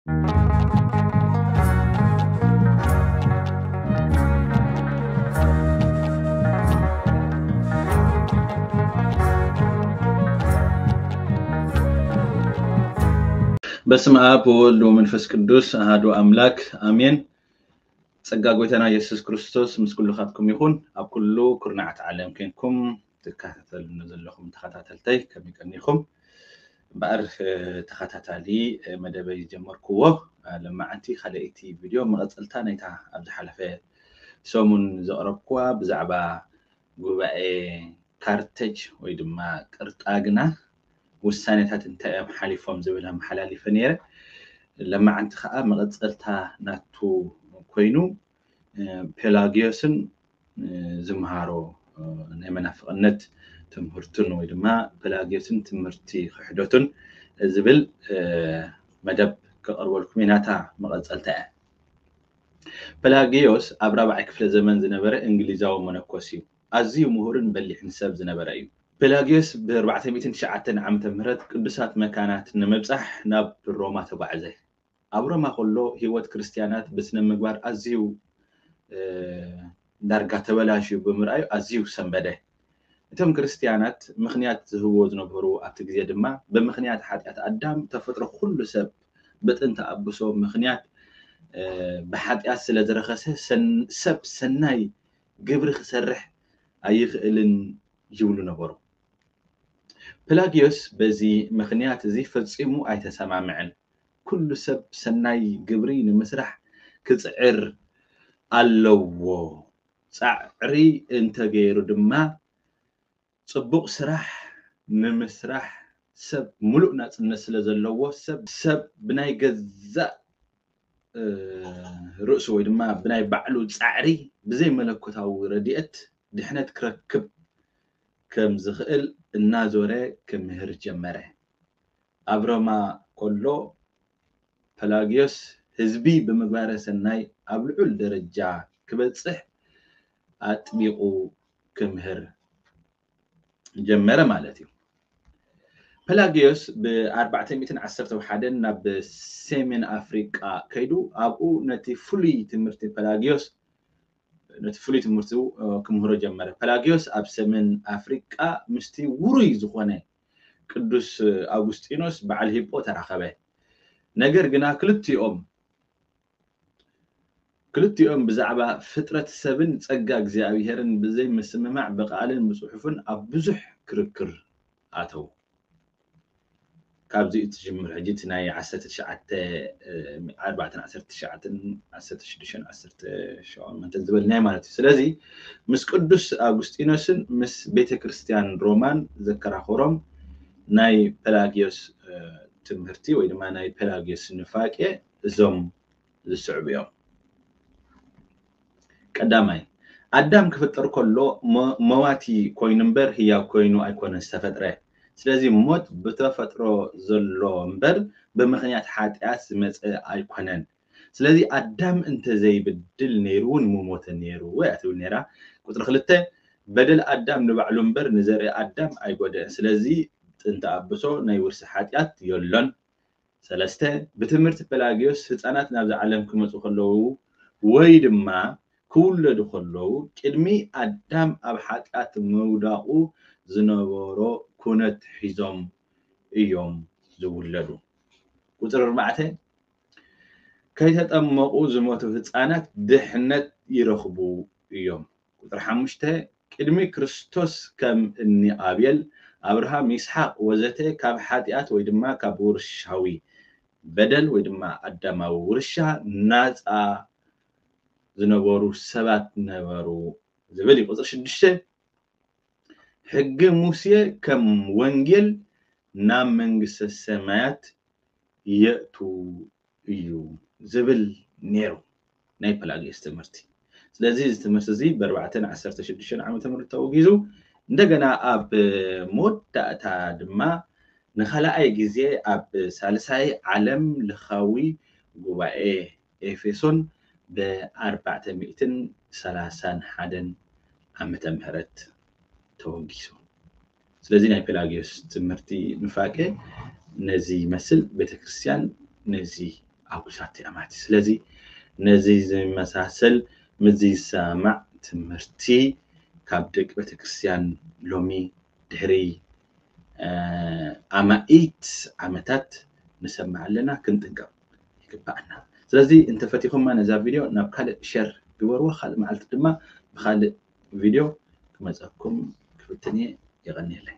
በስመ አብ ወወልድ ወመንፈስ ቅዱስ አሐዱ አምላክ አሜን። ጸጋ ጎይታና ኢየሱስ ክርስቶስ ምስ ኩልኻትኩም ይኹን። ኣብ ኩሉ ኩርናዓት ዓለም ኮንኩም ትከታተሉኒ ዘለኹም ተኸታተልተይ ከመይ ቀኒኹም? እምበኣር ተኸታታሊ መደበይ ዝጀመርክዎ ለማዓንቲ ካልኣይቲ ቪድዮ መቐጸልታ ናይታ ኣብ ዝሓለፈ ሰሙን ዘቕረብክዋ ብዛዕባ ጉባኤ ካርተጅ ወይ ድማ ቅርጣግና ውሳኔታት እንታይ እዮም ሓሊፎም ዝብል ኣመሓላሊፈ ነይረ። ለማዓንቲ ከዓ መቐጸልታ ናቱ ኮይኑ ፔላጊዮስን ዝምሃሮ ናይ መናፍቕነት ትምህርቱን ወይ ድማ ፔላጊዮስን ትምህርቲ ክሕደቱን ዝብል መደብ ከቐርበልኩም እየ። ናታ መቐጸልታ እያ። ፔላጊዮስ ኣብ ራብዓይ ክፍለ ዘመን ዝነበረ እንግሊዛዊ መነኮስ እዩ። ኣዝዩ ምሁርን በሊሕን ሰብ ዝነበረ እዩ። ፔላጊዮስ ብ ኣርባዕተ ሚእትን ትሽዓተን ዓመተ ምህረት ቅዱሳት መካናት ንምብጻሕ ናብ ሮማ ተጓዕዘ። ኣብ ሮማ ከሎ ህይወት ክርስትያናት ብስነ ምግባር ኣዝዩ ዳርጋ ተበላሽዩ ብምርኣዩ ኣዝዩ ሰንበደ። እቶም ክርስትያናት ምኽንያት ዝህብዎ ዝነበሩ ኣብቲ ግዜ ድማ ብምኽንያት ሓጢኣት ኣዳም ተፈጥሮ ኩሉ ሰብ ብጥንቲ ኣብሶ ምኽንያት ብሓጢኣት ስለ ዝረኸሰ ሰብ ሰናይ ግብሪ ክሰርሕ ኣይኽእልን ይብሉ ነበሩ። ፕላጊዮስ በዚ ምኽንያት እዚ ፈጺሙ ኣይተሰማምዐን። ኩሉ ሰብ ሰናይ ግብሪ ንምስራሕ ክጽዕር ኣለዎ። ጻዕሪ እንተገይሩ ድማ ጽቡቕ ስራሕ ንምስራሕ ሰብ ምሉእ ናጽነት ስለ ዘለዎ ሰብ ሰብ ብናይ ገዛእ ርእሱ ወይ ድማ ብናይ ባዕሉ ጻዕሪ ብዘይ መለኮታዊ ረድኤት ድሕነት ክረክብ ከም ዝኽእል እናዞረ ክምህር ጀመረ። ኣብ ሮማ ከሎ ፐላጊዮስ ህዝቢ ብምግባረ ሰናይ ኣብ ልዑል ደረጃ ክበጽሕ ኣጥቢቑ ክምህር ጀመረ ማለት እዩ። ፐላጊዮስ ብ ኣርባዕተ ሚእትን ዓሰርተ ሓደን ናብ ሰሜን ኣፍሪቃ ከይዱ ኣብኡ ነቲ ፍሉይ ትምህርቲ ፐላጊዮስ ነቲ ፍሉይ ትምህርቱ ክምህሮ ጀመረ። ፐላጊዮስ ኣብ ሰሜን ኣፍሪቃ ምስቲ ውሩይ ዝኾነ ቅዱስ ኣውጉስጢኖስ በዓል ሂፖ ተራኸበ። ነገር ግና ክልቲኦም ክልቲኦም ብዛዕባ ፍጥረት ሰብን ጸጋ እግዚኣብሄርን ብዘይ ምስምማዕ ብቃልን ብጽሑፍን ኣብ ብዙሕ ክርክር ኣተው። ካብዚ ትጅምር ሕጂ እቲ ናይ ዓሰርተ ትሽዓተ ኣርባዕተን ዓሰርተ ትሽዓተን ዓሰርተ ሽዱሽተን ዓሰርተ ሸሞንተን ዝበልናዮ ማለት እዩ። ስለዚ ምስ ቅዱስ ኣጉስጢኖስን ምስ ቤተ ክርስቲያን ሮማን ዘከራኸሮም ናይ ፐላጊዮስ ትምህርቲ ወይ ድማ ናይ ፐላጊዮስ ንፋቄ እዞም ዝስዕቡ እዮም። ቀዳማይ፣ ኣዳም ክፍጠር ከሎ መዋቲ ኮይኑ እምበር ህያው ኮይኑ ኣይኮነን ዝተፈጥረ። ስለዚ ሞት ብተፈጥሮ ዘሎ እምበር ብምኽንያት ሓጢኣት ዝመፀ ኣይኮነን። ስለዚ ኣዳም እንተዘይብድል ነይሩ እውን ምሞተ ነይሩ እያ ትብል ነይራ። ቁፅሪ ክልተ፣ በደል ኣዳም ንባዕሉ እምበር ንዘርኢ ኣዳም ኣይጎደእን። ስለዚ ጥንቲ ኣብሶ ናይ ውርሲ ሓጢኣት የሎን። ሰለስተ፣ ብትምህርቲ ፐላጊዮስ ህፃናት ናብዚ ዓለም ክመፁ ከለዉ ወይ ድማ ክውለዱ ከለዉ ቅድሚ ኣዳም ኣብ ሓጢኣት ምውዳቑ ዝነበሮ ኩነት ሒዞም እዮም ዝውለዱ። ቁፅሪ ኣርባዕተ፣ ከይተጠመቑ ዝሞቱ ህፃናት ድሕነት ይረኽቡ እዮም። ቁፅሪ ሓሙሽተ፣ ቅድሚ ክርስቶስ ከም እኒ ኣቤል፣ ኣብርሃም፣ ይስሓቅ ወዘተ ካብ ሓጢኣት ወይ ድማ ካብ ውርሻዊ በደል ወይ ድማ ኣዳማዊ ውርሻ ናፃ ዝነበሩ ሰባት ነበሩ ዝብል እዩ። ቁፅሪ ሽዱሽተ፣ ሕጊ ሙሴ ከም ወንጌል ናብ መንግስተ ሰማያት የእቱ እዩ ዝብል ነይሩ ናይ ፐላጊዮስ ትምህርቲ። ስለዚ እዚ ትምህርቲ እዚ ብኣርባዕተን ዓሰርተ ሽዱሽተን ዓመተ ምህረት ተወጊዙ እንደገና ኣብ መወዳእታ ድማ ንኻልኣይ ግዜ ኣብ ሳልሳይ ዓለም ለኻዊ ጉባኤ ኤፌሶን ብኣርባዕተ ሚእትን ሰላሳን ሓደን ዓመተ ምህረት ተወጊሱ። ስለዚ ናይ ፔላጊዮስ ትምህርቲ ኑፋቄ ነዚ ይመስል። ቤተክርስትያን ነዚ ኣጉሳት ኣማቲ። ስለዚ ነዚ ዝመሳሰል፣ ምዚ ዝሰማማዕ ትምህርቲ ካብ ደቂ ቤተክርስትያን ሎሚ ድሕሪ ኣማኢት ዓመታት ንሰምዕ ኣለና፣ ክንጥንቀቕ ይግባኣና። ስለዚ እንተፈቲኹማ ነዛ ቪድዮ ናብ ካልእ ሸር ግበርዎ። ካልእ መዓልቲ ድማ ብኻልእ ቪድዮ ክመፀኩም ክፍትን እየ። የቐንየለይ።